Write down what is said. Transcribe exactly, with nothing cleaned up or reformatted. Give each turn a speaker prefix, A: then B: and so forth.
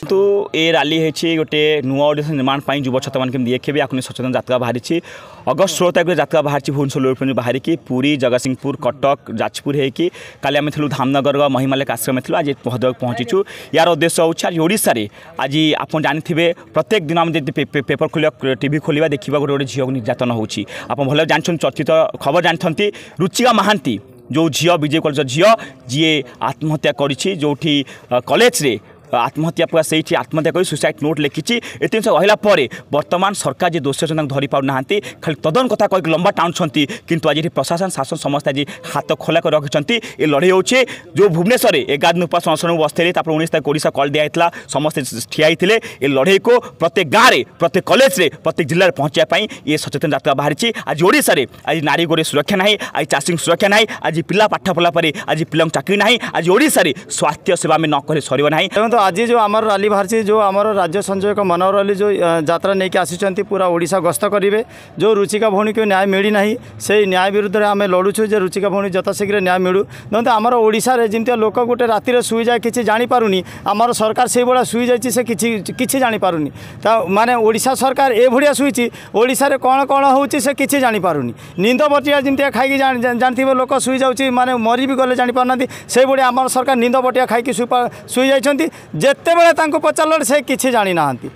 A: କିନ୍ତୁ ଏ ରାଲି ହେଇଛି ଗୋଟେ ନୂଆ ଓଡ଼ିଶା ନିର୍ମାଣ ପାଇଁ ଯୁବ ଛାତ୍ରମାନେ କେମିତି ଦେଖିବେ, ଆକୁ ନେଇ ସଚେତନ ଯାତ୍ରା ବାହାରିଛି। ଅଗଷ୍ଟ ଷୋହଳ ତାରିଖରେ ଯାତ୍ରା ବାହାରିଛି ଭୁବନେଶ୍ୱର ବାହାରିକି ପୁରୀ, ଜଗତସିଂହପୁର, କଟକ, ଯାଜପୁର ହେଇକି। କାଲି ଆମେ ଥିଲୁ ଧାମନଗର ମହିମାଲେକ ଆଶ୍ରମ ଥିଲୁ, ଆଜି ଭଦ୍ରକ ପହଞ୍ଚିଛୁ। ୟାର ଉଦ୍ଦେଶ୍ୟ ହେଉଛି ଆଜି ଓଡ଼ିଶାରେ ଆଜି ଆପଣ ଜାଣିଥିବେ, ପ୍ରତ୍ୟେକ ଦିନ ଆମେ ଯଦି ପେପର ଖୋଲିବା, ଟିଭି ଖୋଲିବା, ଦେଖିବା ଗୋଟେ ଗୋଟେ ଝିଅକୁ ନିର୍ଯାତନା ହେଉଛି। ଆପଣ ଭଲ ଜାଣିଛନ୍ତି, ଚର୍ଚ୍ଚିତ ଖବର ଜାଣିଛନ୍ତି, ରୁଚିକା ମହାନ୍ତି ଯେଉଁ ଝିଅ, ବିଜେ କଲେଜ ଝିଅ ଯିଏ ଆତ୍ମହତ୍ୟା କରିଛି, ଯେଉଁଠି କଲେଜରେ ଆତ୍ମହତ୍ୟା ପୁରା ସେଇଠି ଆତ୍ମହତ୍ୟା କରି ସୁଇସାଇଡ୍ ନୋଟ୍ ଲେଖିଛି। ଏତେ ଜିନିଷ ରହିଲା ପରେ ବର୍ତ୍ତମାନ ସରକାର ଯେ ଦୋଷୀ ଅଛନ୍ତି ତାଙ୍କୁ ଧରିପାରୁନାହାନ୍ତି, ଖାଲି ତଦନ୍ତ କଥା କହିକି ଲମ୍ବା ଟାଣୁଛନ୍ତି। କିନ୍ତୁ ଆଜି ଏଠି ପ୍ରଶାସନ, ଶାସନ ସମସ୍ତେ ଆଜି ହାତ ଖୋଲା କରି ରଖିଛନ୍ତି। ଏ ଲଢ଼େଇ ହେଉଛି ଯେଉଁ ଭୁବନେଶ୍ୱରରେ ଏଗାର ଦିନ ଉପାସ ଅନଶନକୁ ବସିଥିଲେ, ତାପରେ ଉଣେଇଶ ତାରିଖ ଓଡ଼ିଶା କଲ୍ ଦିଆହେଇଥିଲା, ସମସ୍ତେ ଠିଆ ହେଇଥିଲେ। ଏ ଲଢ଼େଇକୁ ପ୍ରତ୍ୟେକ ଗାଁରେ, ପ୍ରତ୍ୟେକ କଲେଜରେ, ପ୍ରତ୍ୟେକ ଜିଲ୍ଲାରେ ପହଞ୍ଚିବା ପାଇଁ ଏ ସଚେତନ ଯାତ୍ରା ବାହାରିଛି। ଆଜି ଓଡ଼ିଶାରେ ଆଜି ନାରୀ ଗୋରେ ସୁରକ୍ଷା ନାହିଁ, ଆଜି ଚାଷୀଙ୍କୁ ସୁରକ୍ଷା ନାହିଁ, ଆଜି ପିଲା ପାଠ ପଢ଼ିଲା ପରେ ଆଜି ପିଲାଙ୍କୁ ଚାକିରି ନାହିଁ, ଆଜି ଓଡ଼ିଶାରେ ସ୍ୱାସ୍ଥ୍ୟ ସେବା ଆମେ ନ କଲେ ସରିବ ନାହିଁ।
B: ଦେଖନ୍ତୁ, ଆଜି ଯେଉଁ ଆମର ରାଲି ବାହାରିଛି, ଯେଉଁ ଆମର ରାଜ୍ୟ ସଂଯୋଜକ ମନୋହର ଅଲି ଯେଉଁ ଯାତ୍ରା ନେଇକି ଆସିଛନ୍ତି, ପୁରା ଓଡ଼ିଶା ଗସ୍ତ କରିବେ। ଯେଉଁ ରୁଚିକା ଭଉଣୀକୁ ନ୍ୟାୟ ମିଳିନାହିଁ, ସେଇ ନ୍ୟାୟ ବିରୁଦ୍ଧରେ ଆମେ ଲଢ଼ୁଛୁ ଯେ ରୁଚିକା ଭଉଣୀ ଯଥାଶୀଘ୍ର ନ୍ୟାୟ ମିଳୁ। ଦେଖନ୍ତୁ, ଆମର ଓଡ଼ିଶାରେ ଯେମିତି ଲୋକ ଗୋଟେ ରାତିରେ ଶୋଇଯାଏ କିଛି ଜାଣିପାରୁନି, ଆମର ସରକାର ସେଇଭଳିଆ ଶୋଇଯାଇଛି, ସେ କିଛି କିଛି ଜାଣିପାରୁନି। ତା ମାନେ ଓଡ଼ିଶା ସରକାର ଏଭଳିଆ ଶୋଇଛି, ଓଡ଼ିଶାରେ କ'ଣ କ'ଣ ହେଉଛି ସେ କିଛି ଜାଣିପାରୁନି। ନିନ୍ଦ ବଟିଆ ଯେମିତିଆ ଖାଇକି ଜାଣିଥିବେ ଲୋକ ଶୋଇଯାଉଛି, ମାନେ ମରି ବି ଗଲେ ଜାଣିପାରୁନାହାନ୍ତି, ସେଇଭଳିଆ ଆମର ସରକାର ନିନ୍ଦ ବଟିଆ ଖାଇକି ଶୋଇଯାଇଛନ୍ତି। ଯେତେବେଳେ ତାଙ୍କୁ ପଚାରିଲେ ସେ କିଛି ଜାଣିନାହାନ୍ତି।